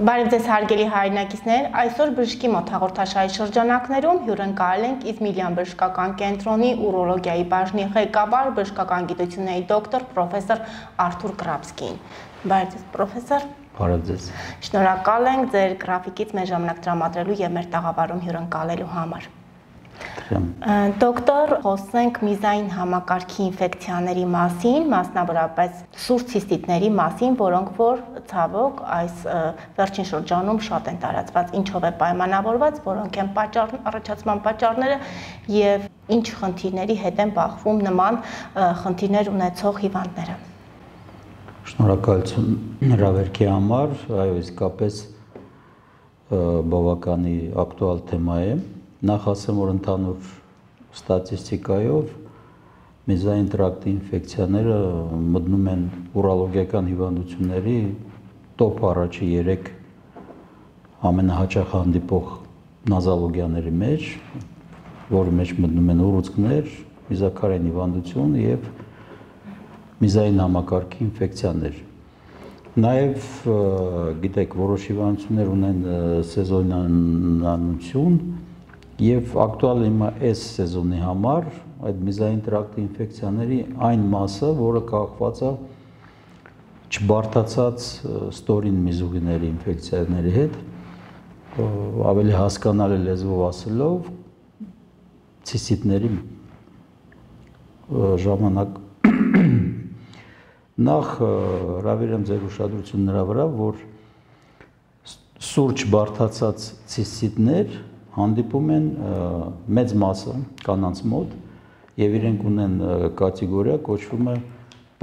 Բարև ձեզ հարգելի հայրենակիցներ, այսօր բժշկի մոտ հաղորդաշարի շրջանակներում հյուրընկալել ենք Իզմիլյան բժշկական կենտրոնի ուրոլոգիայի բաժնի ղեկավար, բժշկական գիտությունների դոկտոր պրոֆեսոր Արթուր Կրապսկին։ Բարև ձեզ պրոֆեսոր։ Բարև ձեզ։ Շնորհակալ ենք ձեր գրաֆիկից մեր ժամանակ տրամադրելու եւ մեր տաղավարում հյուրընկալելու համար։ Դոկտոր, խոսենք միզային համակարգի ինֆեկցիաների մասին, մասնավորապես սուր ցիստիտների մասին, որոնք որ ցավոք այս վերջին շրջանում շատ են տարածված, ինչով է պայմանավորված, որոնք են առաջացման պատճառները եւ ինչ խնդիրների հետ են բախվում նման խնդիրներ ունեցող հիվանդները։ Շնորհակալություն հրավերքի համար, այո, իսկապես բավականի ակտուալ թեմա է։ Նախ ասեմ, որ ընդհանուր ստատիստիկայով միզային տրակտի ինֆեկցիաները մտնում են ուրոլոգիական հիվանդությունների տոփ առաջի 3 ամենահաճախ հանդիպող նոզոլոգիաների մեջ, որի մեջ մտնում են ուռուցքներ, միզաքարային հիվանդություն եւ միզային համակարգի ինֆեկցիաներ։ Նաեւ գիտեք, որոշ հիվանդություններ ունեն սեզոնանություն եւ ակտուալ հիմա այս սեզոնի համար այդ միզային տրակտի ինֆեկցիաների այն մասը, որը կախված է չբարդացած ստորին միզուղիների ինֆեկցիաների հետ, ավելի հասկանալի լեզվով ասելով ցիստիտների ժամանակ նախ հրավիրեմ ձեր ուշադրությունն նրա վրա, որ սուր չբարդացած ցիստիտներ հանդիպում են մեծ մասը կանանց մոտ եւ իրենք ունեն կատեգորիա կոչվում է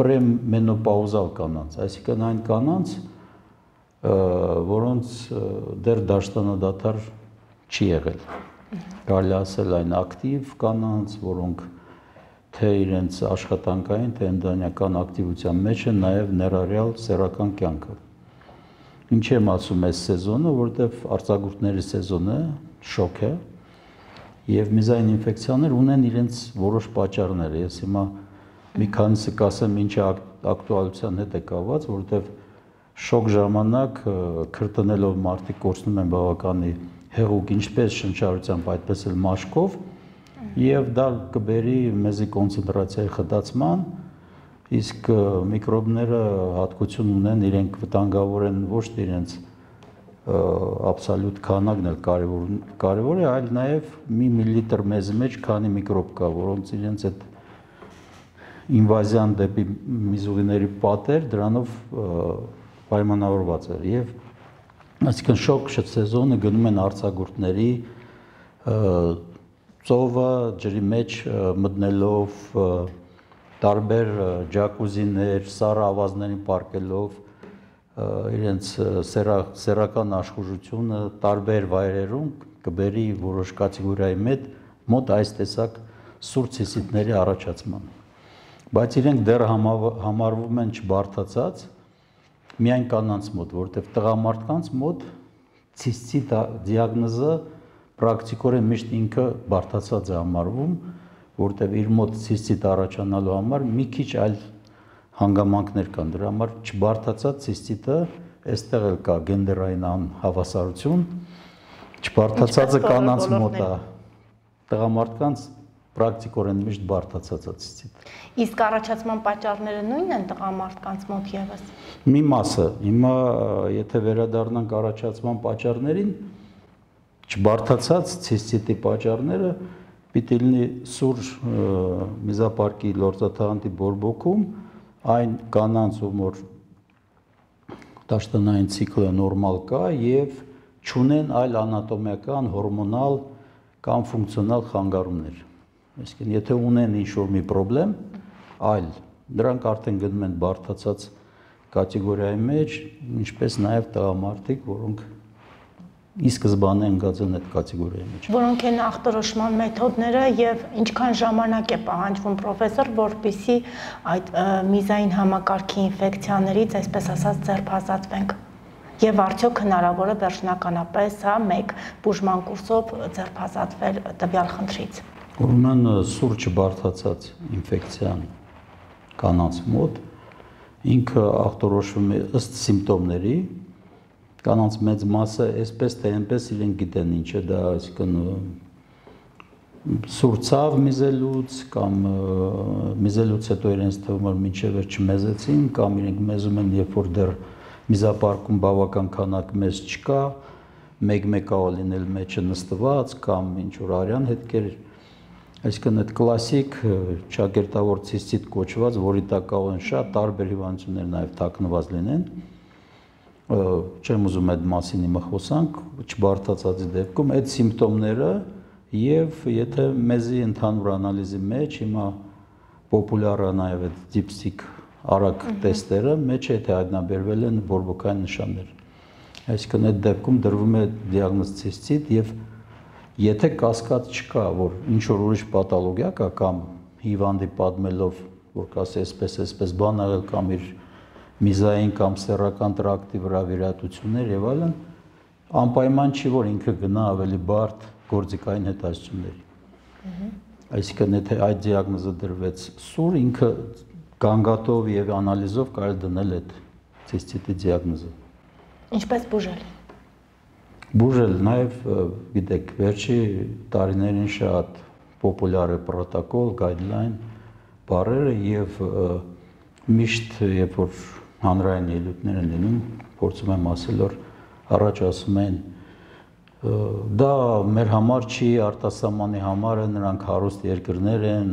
պրեմենոպաուզալ կանանց, այսինքն այն կանանց, որոնց դեռ դաշտանադադար չի եղել։ Կարելի ասել այն ակտիվ կանանց, որոնք թե իրենց աշխատանքային, թե ընտանեկան ակտիվության մեջ են նաեւ ներառյալ սեռական կյանքը։ Ինչ եմ ասում այս սեզոնը, որտեվ արձակուրդների սեզոնը շոկ է եւ միզային ինֆեկցիաներ ունեն իրենց որոշ պատճառներ։ Ես հիմա մի քանիսը կասեմ ինչ ակտուալության հետ է կապված, որովհետեւ շոկ ժամանակ քրտնելով մարդիկ կորցնում են բավականի հեղուկ ինչպես շնչառությամբ, այդպես էլ մաշկով եւ դա կբերի մեզի կոնցենտրացիայի խտացման, իսկ միկրոբները հատկություն ունեն, իրենք վտանգավոր են ոչ թե իրենց աբսոլյուտ քանակն էլ կարևոր է, այլ նաև մի միլիլիտր մեզի մեջ քանի միկրոբ կա, որոնց իրենց այդ ինվազիան դեպի միզուղիների պատեր դրանով պայմանավորված է եւ այսինքն շոկ սեզոնը գնում են արձակուրդների ծովը ջրի մեջ մտնելով տարբեր ջակուզիներ, սառը ավազներին պարկելով իրենց սեռական աշխուժությունը տարբեր վայրերում կբերի որոշ կատեգորիայի մոտ այս տեսակ սուր ցիստիտների առաջացման։ Բայց իրենք դեռ համարվում են չբարդացած միայն կանանց մոտ, որտեղ տղամարդկանց մոտ ցիստիտ դիագնոզը պրակտիկորեն միշտ ինքը բարդացած է համարվում, որտեղ իր մոտ ցիստիտ առաջանալու համար մի քիչ այլ հանգամանքներ կան, դրա համար չբարդացած ցիստիտը այստեղ էլ կա գենդերային անհավասարություն, չբարդացածը կանանց մոտ է, տղամարդկանց պրակտիկորեն միշտ բարդացած է ցիստիտը։ Իսկ առաջացման պատճառները նույնն են տղամարդկանց մոտ եւս։ Մի մասը, հիմա եթե վերադառնանք առաջացման պատճառներին, չբարդացած ցիստիտի պատճառները պիտի լինի սուր միզապարկի լորձաթաղանթի բորբոքում, այն կանանց, որ դաշտանային ցիկլը նորմալ կա եւ չունեն այլ անատոմիական, հորմոնալ կամ ֆունկցիոնալ խանգարումներ։ Այսինքն, եթե ունեն ինչ-որ մի խնդրեմ, այլ դրանք արդեն գնում են բարդացած կատեգորիայի մեջ, ինչպես նաեւ տղամարդիկ, որոնք ի սկզբանե ընկած են այդ կատեգորիայի մեջ։ Որոնք են ախտորոշման մեթոդները եւ ինչքան ժամանակ է պահանջվում պրոֆեսոր, որպեսզի այդ միզային համակարգի ինֆեկցիաներից, այսպես ասած, ձերբազատվենք։ Եվ արդյոք հնարավոր է վերջնականապես մեկ բուժման կուրսով ձերբազատվել տվյալ խնդրից։ Ուրեմն սուր չբարդացած ինֆեկցիան կանանց մոտ ինքը ախտորոշվում է ըստ սիմպտոմների, կանանց մեծ մասը այսպես թե այնպես իրենք գիտեն ինչ է դա, այսինքն սուրցավ միզելուց կամ միզելուց հետո իրենց թվում է մինչև չմեզեցին կամ իրենք մեզում են երբ որ դեռ միզապարկում բավական քանակ մեզ չկա, մեկ-մեկա լինել մեջը նստված կամ ինչ որ արյան հետքեր, այսինքն այդ կլասիկ ճակերտավոր ցիստիտ կոչված, որի տակ կարող են շատ տարբեր հիվանդություններ նաև թաքնված լինեն, չեմ ուզում այդ մասին հիմա խոսանք, չբարդացածի դեպքում այդ սիմպտոմները եւ եթե մեզի ընդհանուր անալիզի մեջ հիմա պոպուլյար է նաև այդ դիպստիկ արագ տեստերը մեջ է թե հայտնաբերվել են բորբոքային նշաններ։ Այսինքն այդ դեպքում դրվում է դիագնոզ ցիստիտ եւ եթե կասկած չկա, որ ինչ որ ուրիշ պաթոլոգիա կա կամ հիվանդի պատմելով, որ կասի այսպես բան աղել կամ իր միզային կամ սեռական տրակտի վրա վիրահատություններ եւ այլն, անպայման չի որ ինքը գնա ավելի բարդ գործիքային հետազոտությունների։ Այսինքն եթե այդ դիագնոզը դրվեց սուր, ինքը գանգատով եւ անալիզով կարելի դնել այդ ցիստիտի դիագնոզը։ Ինչպես բուժել։ Բուժել նաև գիտեք, վերջի տարիներին շատ պոպուլյար է պրոտոկոլ, guideline բառերը եւ միշտ երբ որ հանրային ելույթներ են լինում, փորձում եմ ասել որ առաջ ասում են դա մեր համար չի, արտասահմանի համար է, նրանք հարուստ երկրներ են,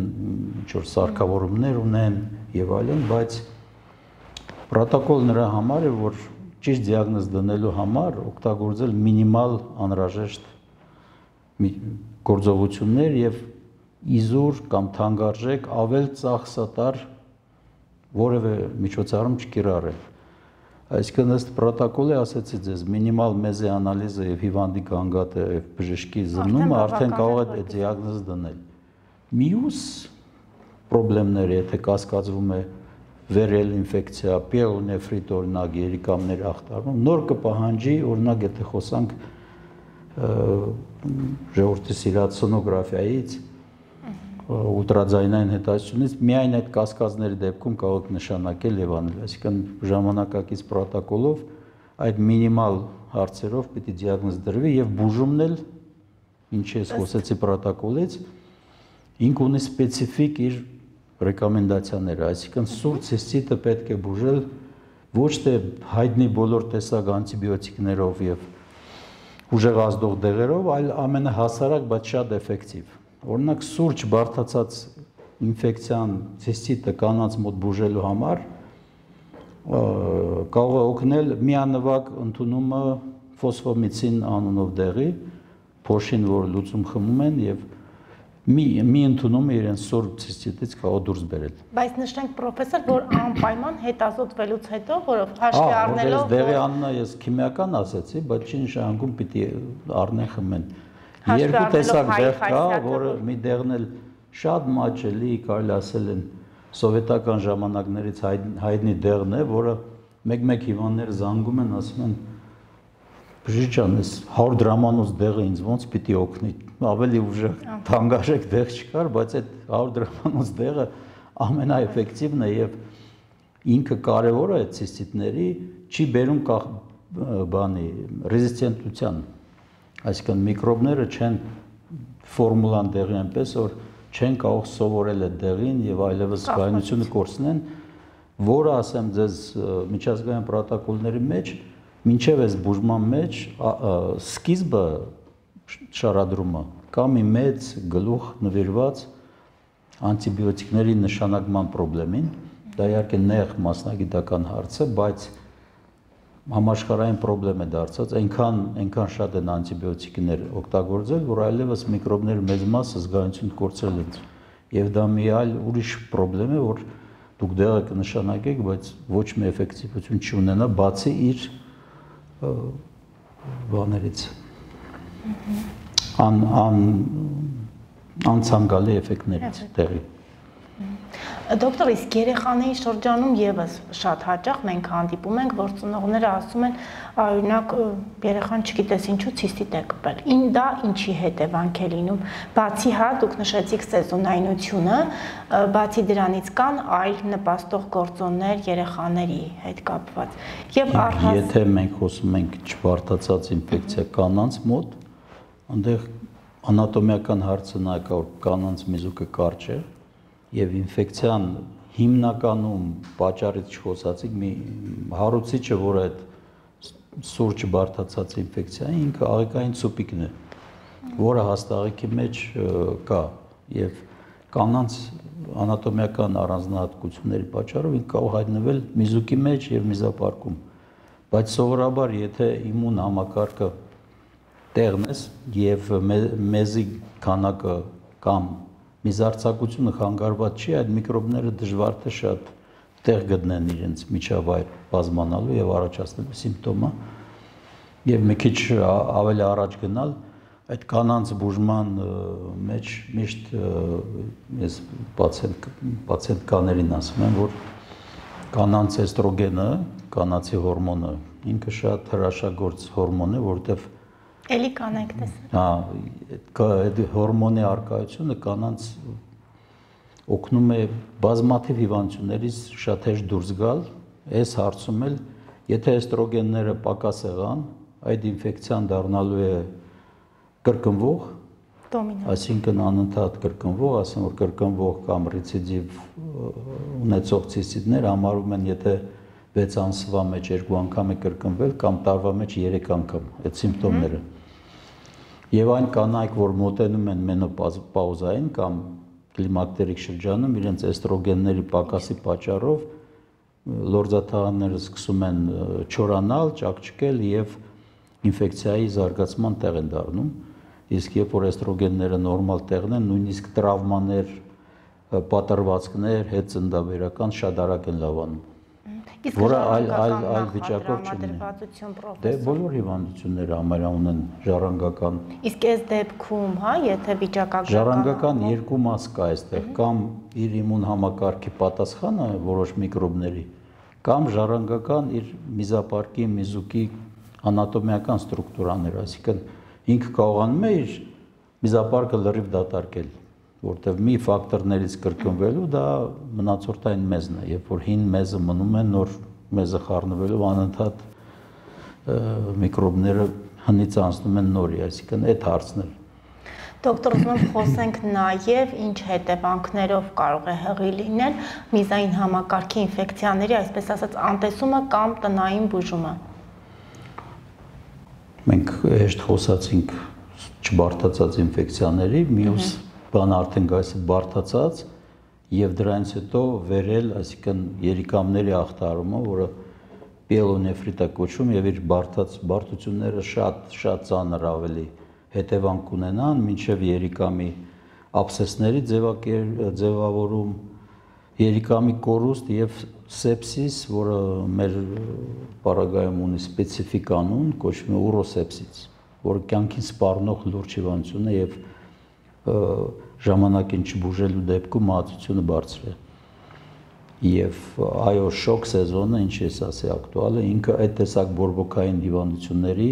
ինչ որ սարքավորումներ ունեն եւ այլն, բայց պրոտոկոլ նրա համար է, որ ճիշտ դիագնոզ դնելու համար օգտագործել մինիմալ անհրաժեշտ գործողություններ եւ իզուր կամ թանկարժեք ավել ծախսատար որևէ միջոցառում չկիրառել։ Այսինքն ըստ պրոտոկոլի ասացի ձեզ մինիմալ մեզի անալիզը եւ հիվանդի գանգատը եւ բժշկի զննումը արդեն կարող է դիագնոզ դնել։ Մյուս պրոբլեմները, եթե կասկածվում է վերել ինֆեկցիա, պիելոնեֆրիտ օրինակ երիկամներ ախտարում, նոր կպահանջի, օրինակ եթե խոսանք ժողովրդի սիրած սոնոգրաֆիայից, ուլտրաձայնային հետազոտությունից միայն այդ կասկածների դեպքում կարող եք նշանակել եւ անել, այսինքն ժամանակակից պրոտոկոլով այդ մինիմալ հարցերով պիտի դիագնոզ դրվի եւ բուժումն էլ ինչի ես խոսեցի պրոտոկոլից ինք ունի սպეციფიկ իր ռեկոմենդացիաները, այսինքն սուր ցիստիտը պետք է բուժել ոչ թե հայտնի բոլոր տեսակ անտիբիոտիկներով եւ ուժեղացնող դեղերով, այլ ամենահասարակ, բայց շատ էֆեկտիվ։ Օրինակ սուրճ բարդացած ինֆեկցիան ցիստիտը կանանց մոտ բուժելու համար կարող է օգնել միանվագ ընդունումը ֆոսֆոմիցին անունով դեղի, փոշին, որ լուծում խմում են եւ մի ընդունումը իրենց սուրբ ցիստիտից կարող դուրս բերել։ Բայց նշենք պրոֆեսոր, որ անպայման հետազոտվելուց հետո, որով հաշվի առնելով դեղի անունը ես քիմիական ասացի, բայց չի նշանակում պիտի առնեն խմեն։ Երկու տեսակ դեղ կա, որը մի դեղն էլ շատ մաչելի, կարելի ասել են սովետական ժամանակներից հայտնի դեղն է, որը մեկ-մեկ հիվանդները զանգում են, ասում են բժիշկ ջան, այս 100 դրամանոց դեղը ինձ ոնց պիտի օգնի, ավելի ուժեղ թանկարժեք դեղ չկար, բայց այդ 100 դրամանոց դեղը ամենաէֆեկտիվն է եւ ինքը կարևոր է ցիստիտների, չի բերում բանի ռեզիստենտության, այսինքն միկրոբները չեն ֆորմուլան դեղի այնպես որ չեն կարող սովորել այդ դեղին եւ այլևս զգայունությունը կորցնեն, որը ասեմ ձեզ միջազգային պրոտոկոլների մեջ մինչև այս բուժման մեջ սկիզբը շարադրումը կամ մի մեծ գլուխ նվիրված անտիբիոտիկների նշանակման խնդրին, դա իհարկե նեղ մասնագիտական հարց է, բայց համաշխարհային խնդրեմ է դարձած, այնքան շատ են անտիբիոտիկներ օգտագործել, որ այլևս միկրոբների մեծ մասը զգայունություն կորցրել են։ Եվ դա մի այլ ուրիշ խնդրեմ է, որ դուք դեղը կնշանակեք, բայց ոչ մի էֆեկտիվություն չունենա, բացի իր բաներից անցանկալի էֆեկտներից տեղի։ Դոկտոր, իսկ երեխաների շրջանում եւս շատ հաճախ մենք հանդիպում ենք, որ ծնողները ասում են, օրինակ, երեխան չգիտես ինչու ցիստիտ է կպել։ Դա ինչի հետևանք է լինում։ Բացի դուք նշեցիք սեզոնայնությունը, բացի դրանից կան այլ նպաստող գործոններ երեխաների հետ կապված։ Եվ եթե մենք խոսում ենք չբարդացած ինֆեկցիա կանանց մոտ, այնտեղ անատոմիական հարցը նա կա, որ կանանց միզուկը կարճ է եւ ինֆեկցիան հիմնականում պատճառից չխոսացիք մի հարուցիչը, որ այդ սուրճ բարդացած ինֆեկցիա ինքը աղիքային ցուպիկն է, որը հաստաղիքի մեջ կա եւ կանանց անատոմիական առանձնահատկությունների պատճառով ինքը կարող հայտնվել միզուկի մեջ եւ միզապարկում, բայց սովորաբար եթե իմուն համակարգը տեղն ես եւ մեզի քանակը կամ միզարձակությունը խանգարված չի, այդ միկրոբները դժվար թե շատ տեղ գտնեն իրենց միջավայր բազմանալու եւ առաջացնելու սիմպտոմը եւ մի քիչ ավելի առաջ գնալ այդ կանանց բուժման մեջ միշտ ես պացիենտներին ասում եմ, որ կանանց էստրոգենը, կանացի հորմոնը ինքը շատ հրաշագործ հորմոն է, որտեղ էլի կանենք տեսնել։ այդ հորմոնի արկայությունը կանանց օգնում է բազմաթիվ հիվանդություններից շատ հեշտ դուրս գալ, այս հարցում էլ եթե էստրոգենները պակաս եղան, այդ ինֆեկցիան դառնալու է կրկնվող, այսինքն անընդհատ կրկնվող, ասեմ որ կրկնվող կամ ռեցիդիվ ունեցող ցիստիտներ համարում են, եթե 6 ամսվա մեջ 2 անգամ է կրկնվել կամ տարվա մեջ 3 անգամ այդ սիմպտոմները։ Եվ այն կանայք, որ մոտենում են մենոպաուզային կամ կլիմակտերիկ շրջանում, իրենց էստրոգենների պակասի պատճառով լորձաթաղանթները սկսում են չորանալ, ճաքճքել եւ ինֆեկցիայի զարգացման տեղ են դառնում, իսկ երբ որ էստրոգենները նորմալ տեղն են, նույնիսկ տրավմաներ, պատրվածքներ, հետծնդաբերական շատ արագ են լավանում։ Որը այլ վիճակով չլինի։ Դե բոլոր հիվանդությունները համարյա ունեն ժառանգական։ Իսկ այս դեպքում, եթե վիճակագրական ժառանգական երկու մաս կա այստեղ, կամ իր իմուն համակարգի պատասխանը որոշ միկրոբների, կամ ժառանգական իր միզապարկի, միզուկի անատոմիական ստրուկտուրաներ, այսինքն ինքը կարողանում է իր միզապարկը լրիվ դատարկել, որտեղ մի ֆակտորներից կրկնվելու դա մնացորդային մեզն է, երբ որ հին մեզը մնում է, նոր մեզը խառնվելով անընդհատ միկրոբները հնից անցնում են նորի, այսինքն այդ հարցն է։ Դոկտոր, ուզում եմ խոսենք նաև ինչ հետևանքներով կարող է հղի լինել միզային համակարգի ինֆեկցիաների, այսպես ասած, անտեսումը կամ տնային բուժումը։ Մենք հեշտ խոսացինք չբարդացած ինֆեկցիաների, մյուս բան արդեն գայս բարդացած եւ դրանից հետո վերել, այսինքն երիկամների ախտարումը, որը պիելոնեֆրիտ է կոչվում եւ իր բարդությունները շատ ծանր ավելի հետևանք կունենան, մինչեւ երիկամի աբսեսների ձևավորում, երիկամի կորուստ եւ սեպսիս, որը մեր պարագայում ունի սպეციფიկ անուն, կոչվում է ուրոսեպսիս, որը կյանքին սպառնող լուրջ հիվանդություն է եւ ժամանակին չբուժելու դեպքում մահացությունը բարձր է։ Եվ այո, շոկ սեզոնը, ինչ ես ասի, ակտուալ է, ինքը այդ տեսակ բորբոքային հիվանդությունների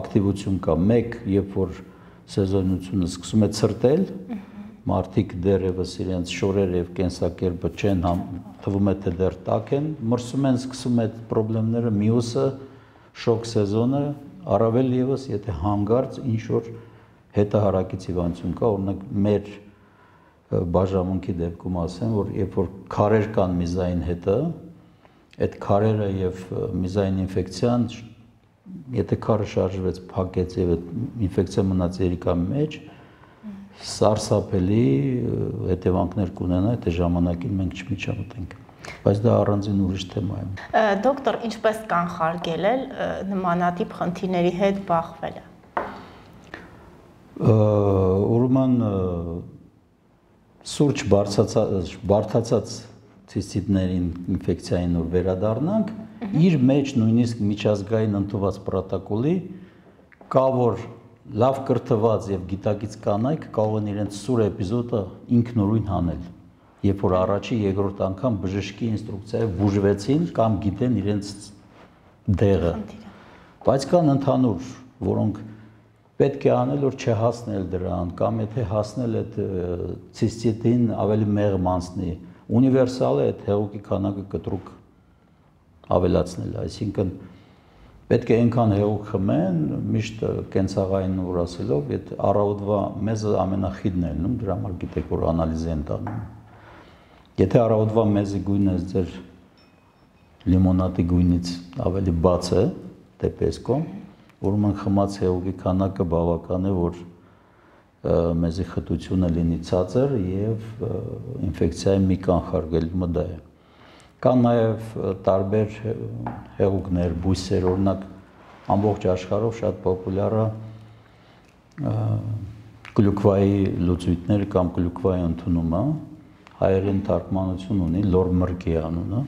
ակտիվություն կա։ Մեկ, երբ որ սեզոնությունը սկսում է ցրտել, մարդիկ դեռևս իրենց շորերը եւ կենսակերպը չեն թվում է թե դեռ տաք են, մրսում են, սկսում այդ խնդիրները, մյուսը շոկ սեզոնը, առավել եւս եթե հանգարց ինչ որ հետահարակից հիվանդություն կա, օրինակ մեր բաժանմունքի դեպքում ասեմ, որ երբ որ քարեր կան միզային հետը, այդ քարերը եւ միզային ինֆեկցիան, եթե քարը շարժվեց, փակեց եւ այդ ինֆեկցիա մնաց երիկամի մեջ, սարսափելի հետևանքներ կունենա, այդ ժամանակին մենք չմիջամտենք։ Բայց դա առանձին ուրիշ թեմա է։ Դոկտոր, ինչպես կանխարգելել նմանատիպ խնդիրների հետ բախվելը։ Ուրեմն սուրճ բարդացած ցիստիտներին ինֆեկցիային որ վերադառնանք, իր մեջ նույնիսկ միջազգային ընդունված պրոտոկոլի կա որ լավ կրթված եւ գիտակից կանայք կարող են իրենց սուր էպիզոդը ինքնուրույն հանել, երբ որ առաջի երկրորդ անգամ բժշկի ինստրուկցիայով բուժվեցին կամ գիտեն իրենց դեղը։ Բայց կան ընդհանուր, որոնք պետք է անել, որ չհասնել դրան, կամ եթե հասնել այդ ցիստիտին ավելի մեղմ անցնի, ունիվերսալ է այդ հեղուկի քանակը կտրուկ ավելացնել, այսինքն պետք է այնքան հեղուկ խմեն, միշտ կենցաղային ուր ասելով, այդ առավոտվա մեզը ամենախիդն է լինում, դրա համար գիտեք, որ անալիզ են տանում։ Եթե առավոտվա մեզի գույնը ձեր լիմոնադի գույնից ավելի բաց է, դեպեսկոմ, ուրեմն խմած հեղուկի քանակը բավական է, որ մեզի խտությունը լինի ցածր եւ ինֆեկցիայի մի կանխարգելումը դա է։ Կան նաև տարբեր հեղուկներ, բույսեր, օրինակ ամբողջ աշխարհով շատ պոպուլյար է գլյուկվայի լուծույթները կամ գլյուկվայի ընդունումը, հայերեն թարգմանություն ունի լորմրկի անունը,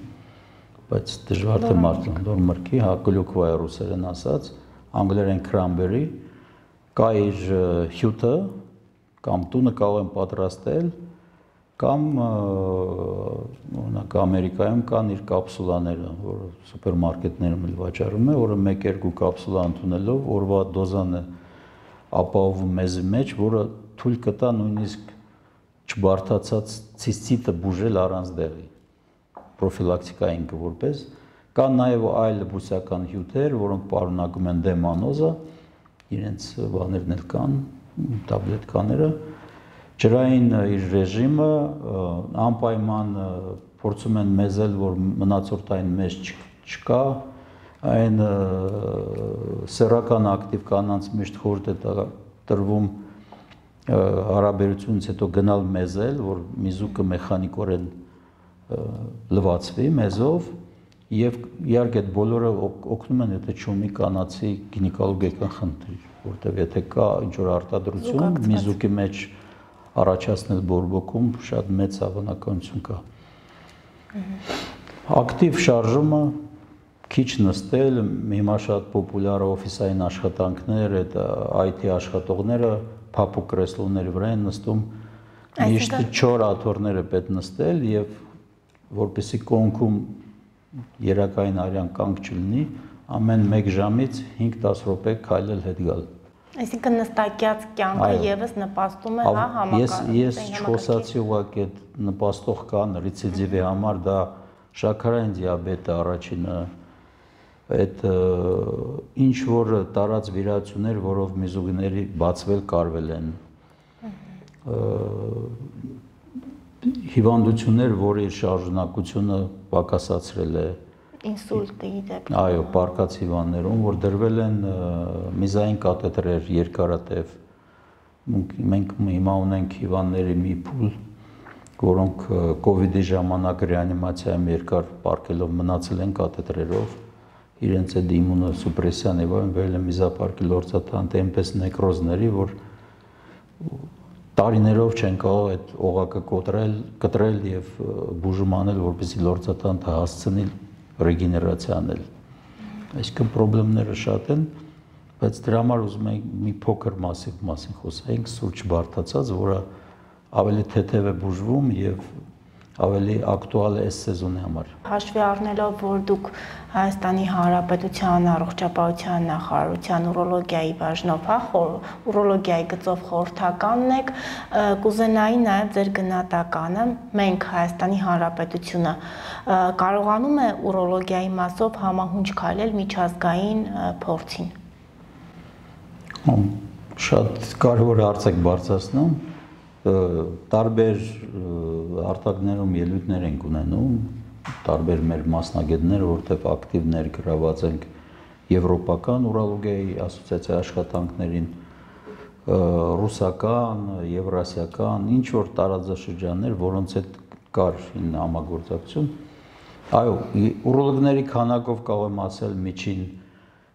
բայց դժվար թե մարդը լորմրկի, հա գլյուկվա է ռուսերեն ասած, անգլերեն cranberry, կա իր հյութը կամ տունը կարող են պատրաստել կամ օրինակ Ամերիկայում կան իր կապսուլաները, որը սուպերմարկետներում էլ վաճառում է, որը 1-2 կապսուլա ընդունելով օրվա դոզան է ապահովում մեզի մեջ, որը թույլ կտա նույնիսկ չբարդացած ցիստիտը բուժել առանց դեղի, պրոֆիլակտիկային որպես։ Կան նաև այլ բուսական հյութեր, որոնք պարունակում են դեմանոզա, իրենց բաներն էլ կան, տաբլետկաները, ջրային իր ռեժիմը անպայման փորձում են մեզել, որ մնացորդային մեզ չկա, այն սեռական ակտիվ կանանց միշտ խորտ է տրվում հարաբերությունից հետո գնալ մեզել, որ միզուկը մեխանիկորեն լվացվի մեզով եւ իհարկե այդ բոլորը օգնում են, եթե չունի կանացի գինեկոլոգիական խնդիր, որտեղ եթե կա ինչ որ արտադրություն միզուկի մեջ առաջացնել բորբոքում շատ մեծ հավանականություն կա։ Ակտիվ շարժումը, քիչ նստել, հիմա շատ պոպուլյար օֆիսային աշխատանքներ, այդ IT աշխատողները փափուկ կրեսլոների վրա են նստում, միշտ 4 աթոռները պետք նստել եւ որպեսզի կոնքում երակային արյան կանգ չլինի, ամեն 1 ժամից 5-10 րոպե քայլել հետ գալ։ Այսինքն նստակյաց կյանքը եւս նպաստում է, հա, համակարգին։ Ես չխոսացի ուղղակի այդ նպաստող կան ռեցիդիվի համար, դա շաքարային դիաբետը առաջինը, այդ ինչ որ տարած վիրահատություններ, որով միզուկների բացվել կարվել են, հիվանդություններ, որի շարժունակությունը պակասացրել է, ինսուլտի դեպքում։ Այո, պարկած հիվանդներում, որ դրվել են միզային կաթետրեր երկարատև։ Մենք հիմա ունենք հիվանդների մի փուլ, որոնք կովիդի ժամանակ ռեանիմացիայում երկար պարկելով մնացել են կաթետրերով, իրենց այդ իմունոսուպրեսիան եւ այլն վերել են միզապարկի լորձաթանթ այնպես նեկրոզների, որ տարիներով չեն կարող այդ օղակը կտրել եւ բուժում անել, որպեսզի լորձաթանթը հասցնի ռեգեներացիա անել։ Այսինքն խնդիրները շատ են, բայց դրա համար ուզում եմ մի փոքր մասին խոսենք, սուրճ բարդացած, որը ավելի թեթև է բուժվում եւ ավելի ակտուալ է այս սեզոնի համար։ Հաշվի առնելով, որ դուք Հայաստանի Հանրապետության առողջապահության նախարարության ուրոլոգիայի բաժնով, հա, ուրոլոգիայի գծով խորհրդականն եք, կուզենայի նաև ձեր գնահատականը, մենք Հայաստանի Հանրապետությունը կարողանում է ուրոլոգիայի մասով համահունչ քայլել միջազգային փորձին։ Շատ կարևոր հարց եք բարձրացնում, տարբեր արտակներում ելույթներ ենք ունենում, տարբեր մեր մասնագետներ, որտեղ ակտիվ ներգրաված ենք եվրոպական ուրոլոգիայի ասոցիացիայի աշխատանքներին, ռուսական, եվրասիական, ինչ որ տարածաշրջաններ, որոնց հետ կար համագործակցություն։ Այո, ուրոլոգների քանակով կարող եմ ասել միջին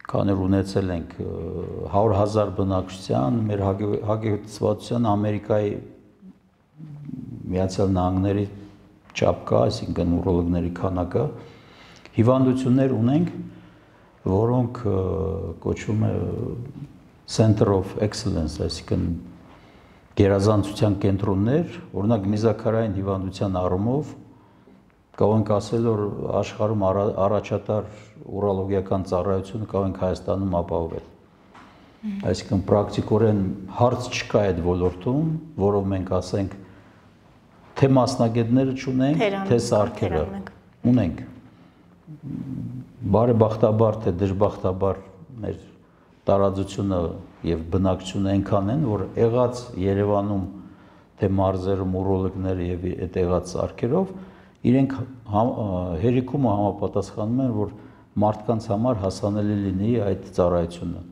քաներ ունեցել ենք 100,000 բնակչության, մեր հագեցվածության Ամերիկայի Միացյալ Նահանգների չափ կա, այսինքն ուրոլոգների քանակը, հիվանդություններ ունենք, որոնք կոչվում է Center of Excellence, այսինքն գերազանցության կենտրոններ, օրինակ միզաքարային հիվանդության առումով կարող ենք ասել, որ աշխարհում առաջատար ուրոլոգիական ծառայությունը կարող ենք Հայաստանում ապահովել։ Այսինքն պրակտիկորեն հարց չկա այդ ոլորտում, որով մենք ասենք թե մասնագետները չունենք, թե սարքերը ունենք։ Բարեբախտաբար թե դժբախտաբար մեր տարածությունը եւ բնակչությունը այնքան են, որ եղած Երևանում թե մարզերում ուրոլոգները եւ այդ եղած սարքերով իրենք հերիքում համապատասխանում են, որ մարդկանց համար հասանելի լինի այդ ծառայությունը։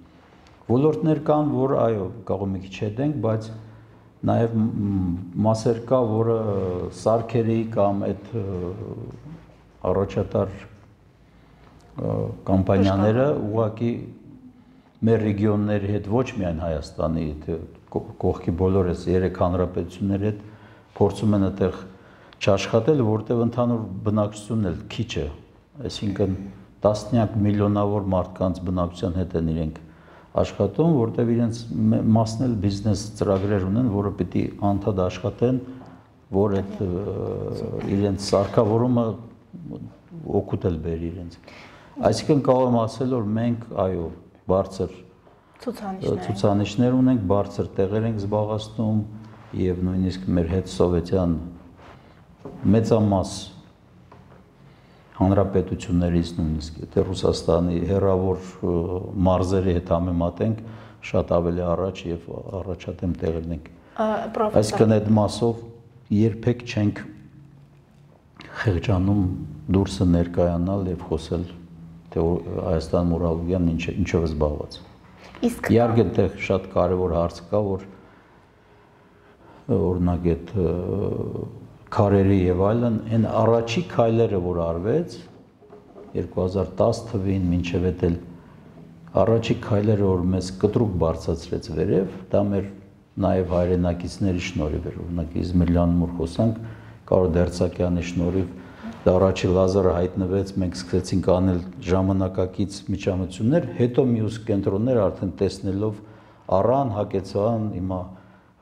Ոլորտներ կան, որ այո, կարող մի քիչ հետենք, բայց նաեւ մասեր կա, որը սարքերի կամ այդ առաջատար կամպանիաները ուղղակի մեր ռեգիոնների հետ ոչ միայն Հայաստանի, կողքի բոլոր այս 3 հանրապետությունների հետ փորձում են այդտեղ չաշխատել, որտեղ ընդհանուր բնակչությունն էլ քիչ է, այսինքն տասնյակ միլիոնավոր մարդկանց բնակչության հետ են իրենք աշխատում, որտեղ իրենց մասն էլ բիզնես ծրագրեր ունեն, որը պիտի անդադ աշխատեն, որ այդ իրենց սարքավորումը օգուտ էլ բերի իրենց։ Այսինքն կարող եմ ասել, որ մենք այո բարձր ցուցանիշներ ունենք, բարձր տեղեր ենք զբաղեցնում եւ նույնիսկ մեր հետ սովետյան մեծամաս հանրապետություններից նույնիսկ եթե Ռուսաստանի հեռավոր մարզերի հետ համեմատենք, շատ ավելի առաջ եւ առաջադեմ տեղերն ենք։ Այսինքն այդ մասով երբեք չենք խեղճանում դուրսը ներկայանալ եւ խոսել թե Հայաստան ուրոլոգիան ինչով է զբաղված։ Իսկ իհարկե այդտեղ շատ կարևոր հարց կա, որ օրինակ այդ քարերի եւ այլն, այն առաջի քայլերը, որ արվեց 2010 թվին մինչև էլ առաջի քայլերը, որ մեզ կտրուկ բարձրացրեց վերև, դա մեր նաեւ հայրենակիցների շնորհիվ էր, օրինակ Իզմիլյանում որ խոսանք, Կարո Դերցակյանի շնորհիվ դա առաջի լազերը հայտնվեց, մենք սկսեցինք անել ժամանակակից միջամտություններ, հետո մյուս կենտրոններ արդեն տեսնելով առան, հակեցան, հիմա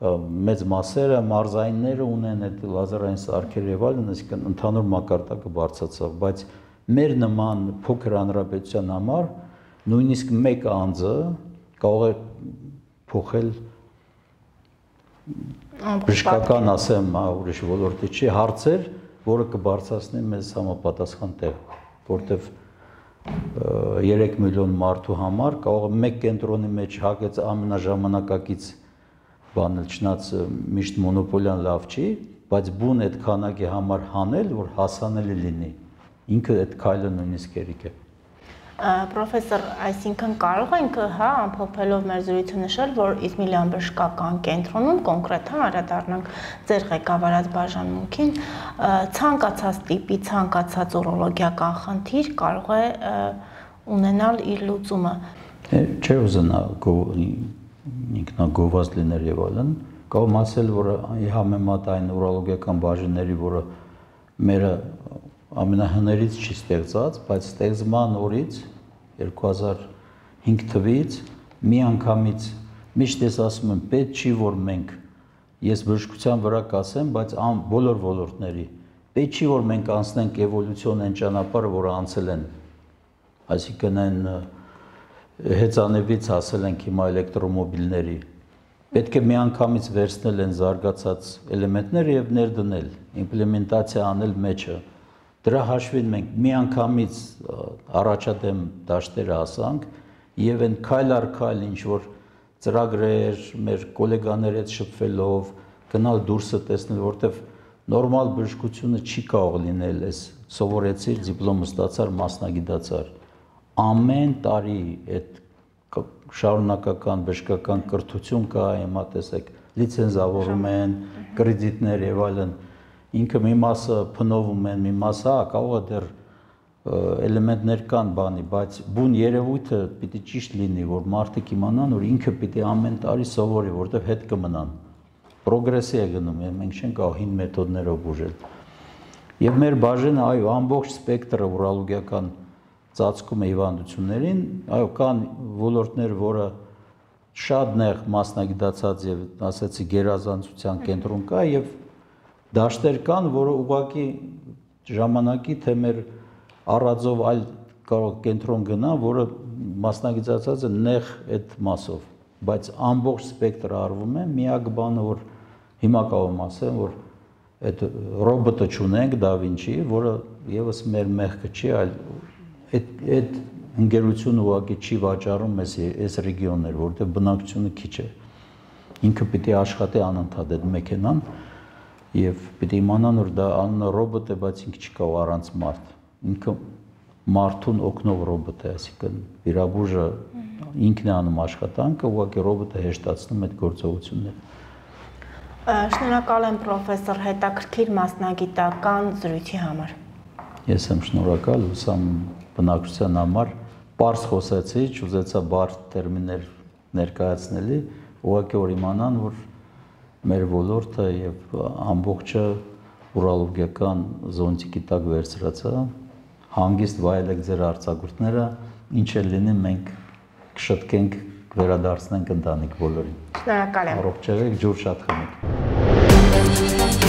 մեծ մասերը, մարզայինները ունեն այդ լազերային սարքեր եւ այլն, այսինքն ընդհանուր մակարդակը բարձրացավ, բայց մեր նման փոքր հանրապետության համար նույնիսկ մեկ անձը կարող է փոխել բժշկական ասեմ, ուրիշ ոլորտի չի հարցեր, որը կբարձրացնի մեզ համապատասխան տեղ, որտեվ 3 միլիոն մարդու համար կարող է մեկ կենտրոնի մեջ հագեց ամենաժամանակակից բանը, չնայած միշտ մոնոպոլիան լավ չի, բայց բուն այդ քանակի համար հանել, որ հասանելի լինի, ինքը այդ քայլը նույնիսկ երիկ է։ Պրոֆեսոր, այսինքն կարող ենք, հա, ամփոփելով մեր զրույցը նշել, որ Իզմիլյան բժշկական կենտրոնում կոնկրետ անդրադառնանք ձեր ղեկավարած բաժանմունքին, ցանկացած տիպի, ցանկացած ուրոլոգիական խնդիր կարող է ունենալ իր լուծումը։ Չէ ուզենա ինքնագովված լիներ եւ այլն, կարող եմ ասել, որ համեմատ այն ուրոլոգիական բաժինների, որը մերը ամենահներից չի ստեղծած, բայց ստեղծման օրից 2005 թվականից մի անգամից միշտ ես ասում եմ, պետք չի որ մենք ես բժշկության վրա կասեմ, բայց բոլոր ոլորտների պետք չի որ մենք անցնենք էվոլյուցիոն այն ճանապարհը, որը անցել են, այսինքն այն հեծանեվից հասել ենք հիմա էլեկտրոմոբիլների, պետք է մի անգամից վերցնել են զարգացած էլեմենտները եւ ներդնել, իմպլեմենտացիա անել մեջը։ Դրա հաշվին մենք մի անգամից առաջադեմ դաշտերը հասանք եւ այն քայլ առ քայլ ինչ որ ծրագրեր մեր գոլեգաների հետ շփվելով գնալ դուրսը տեսնել, որտեվ նորմալ բժշկությունը չի կարող լինել այս սովորեցիր, դիպլոմ ստացար, մասնագիտացար։ Ամեն տարի այդ շարունակական բժշկական կրթություն կա, հիմա տեսեք, լիցենզավորում են, կրեդիտներ եւ այլն։ Ինքը մի մասը փնովում են, մի մասը կարող է դեռ էլեմենտներ կան բանի, բայց բուն երևույթը պիտի ճիշտ լինի, որ մարդիկ իմանան, որ ինքը պիտի ամեն տարի սովորի, որտեղ հետ կմնան։ Պրոգրեսի է գնում, մենք չենք կարող հին մեթոդներով բուժել։ Եվ մեր բաժինը, այո, ամբողջ սպեկտրը ուրոլոգիական ծածկում է հիվանդություններին, այո, կան ոլորտներ, որը շատ նեղ մասնագիտացած եւ ասեցի գերազանցության կենտրոն կա եւ դաշտեր կան, որը ուղղակի ժամանակի թե մեր առածով այլ կարող կենտրոն գնա, որը մասնագիտացած է նեղ այդ մասով, բայց ամբողջ սպեկտրը արվում է, միակ բանը որ հիմա կարող եմ ասեմ, որ այդ ռոբոտը չունենք Da Vinci, որը եւս մեր մեղքը չի, այլ այդ ընկերությունը ուղղակի չի վաճառում այս ռեգիոններ, որտեղ բնակչությունը քիչ է։ Ինքը պիտի աշխատի անընդհատ այդ մեքենան եւ պիտի իմանան, որ դա անունը ռոբոտ է, բայց ինքը չի կարող առանց մարդ։ Ինքը մարդուն օգնող ռոբոտ է, այսինքն վիրաբույժը ինքն է անում աշխատանքը, ուղղակի ռոբոտը հեշտացնում այդ գործողությունները։ Շնորհակալ եմ պրոֆեսոր հետաքրքիր մասնագիտական զրույցի համար։ Ես եմ շնորհակալ ուսամ բնակչության համար, պարզ խոսեցի, չուզեցա բարդ տերմիններ ներկայացնելի, ուղղակի որ իմանան, որ մեր ոլորտը եւ ամբողջը ուրալոգիական զոնտիկի տակ վերցրած է, հանգիստ վայելեք ձեր արձակուրդները, ինչ էլ լինի մենք կշտկենք, վերադարձնենք ընտանիք բոլորին։ Շնորհակալ եմ։ Առողջ եղեք, ջուր շատ խմեք։